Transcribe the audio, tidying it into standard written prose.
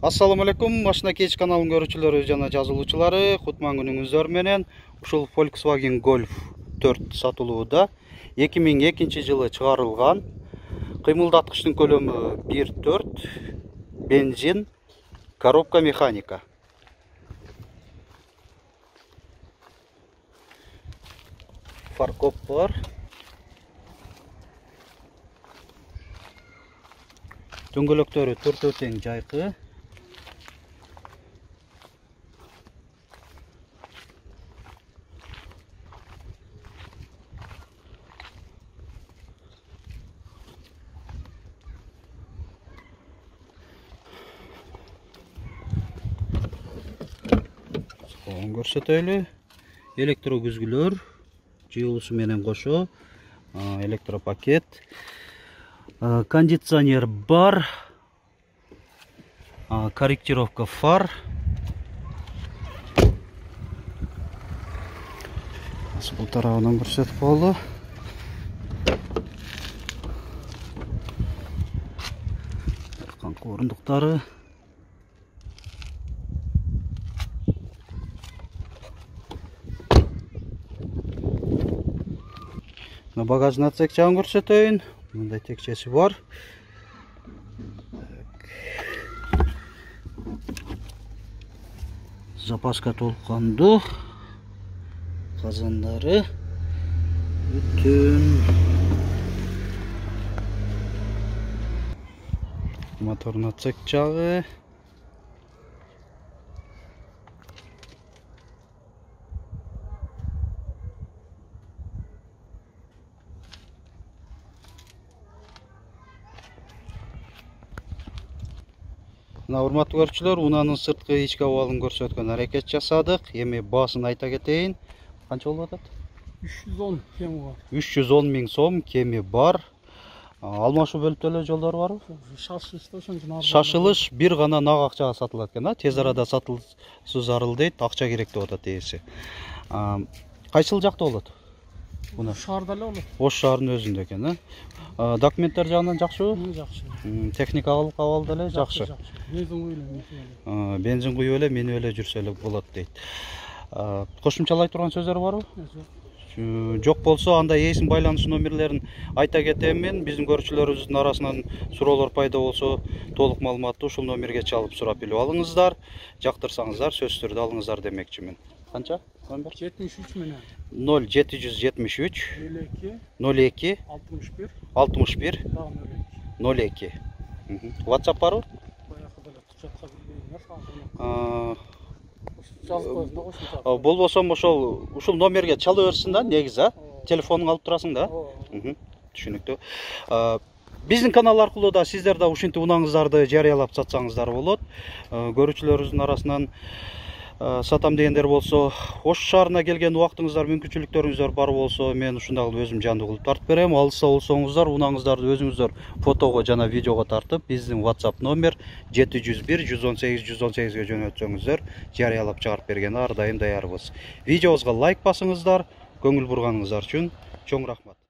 Assalamu alaikum, Машина Кеч каналынын көрүүчүлөрү жана жазылуучулары, кутман күнүңүздөр менен. Ушул Volkswagen Golf 4 сатылууда. 2002 жылы чыгарылган. Кыймылдаткычтын көлөмү 1.4, бензин, коробка механика. Фаркоп бар. Дөңгөлөктөрү төртөө тең жайкы. Көрсөтөлү. Электрогүзгүлөр, жыйылуусу менен кошо, электропакет, кондиционер бар, корректировка фар. Бул тарабынан көрсөтүп коелу. Арканкы орундуктары. Багажный отсек жагын көрсөтөйүн. Мындай текчеси бар. Запаска толкундуу. Казандары. Бүтүн. Мотордун отсек жагы. Урматтуу көрүүчүлөр, унаанын сырткы ички абалын көрсөткөн аракет жасадык. Эми баасын айта кетейин. Канча болуп атат? 310 кеми бар. 310 миң сом кеми бар. Алмашуу бөлүп төлөө жолдору барбы? Шашылыш бир гана нак акчага сатылат экен, тез арада сатылсу зарыл дейт, акча керек деп атат ээси. Кайсыл жакта болот? Шаарда эле болот. Ош шаарынын өзүндө экен, Документтер жагынан жакшыбы? Жакшы. Техникалык абал деле жакшы. Бензин куюп эле, Бензин куюп эле, менип эле жүрсө эле болот дейт. Кошумчалай турган сөздөр барбы? Жок болсо, анда ээсинин байланыш номерлерин айта кетем мен. Биздин көрүүчүлөрүбүздүн арасынан суроолор пайда болсо, толук маалыматты ушул номерге чалып сурап билип алыңыздар. Жактырсаңыздар, сөзсүз түрдө алыңыздар демекчимин. Канча? Номер 73 менен 0773 02 61 02. WhatsApp барбы? Болбосом ушул номерге чала берсин да, негизи, телефонуңду алып турасың да. Түшүнүктүү. Биздин канал аркылуу да сиздер да ушинтип унааңыздарды жарыялап сатсаңыздар болот. Көрүүчүлөрүбүздүн арасынан сатам дегендер болсо, Ош шаарына келген убактыңыздар, мүмкүнчүлүктөрүңүздөр бар болсо, мен ушундай өзүм жандуу кылып тартып берем. Алыста болсоңуздар, унааңыздарды өзүңүздөр фотого жана видеого тартып, биздин WhatsApp номер 701 118 118ге жөнөтсөңүздөр, жарыялап чыгарып бергенге ар дайым даярбыз. Видеобузга лайк басыңыздар, көңүл бурганыңыздар үчүн чоң рахмат.